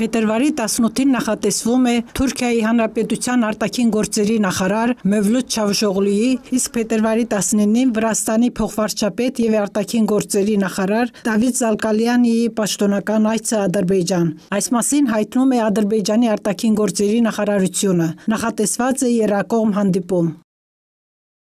Փետրվարի 18-ին նախատեսվում է Թուրքիայի Հանրապետության արտաքին գործերի նախարար Մևլութ Չավուշօղլուի, իսկ փետրվարի 19-ին Վրաստանի փոխվարչապետ եւ արտաքին գործերի նախարար Դավիթ Զալկալյանիի պաշտոնական այցը Ադրբեջան։ Այս մասին հայտնում է Ադրբեջանի արտաքին գործերի նախարարությունը։ Նախատեսված է եռակողմ հանդիպում։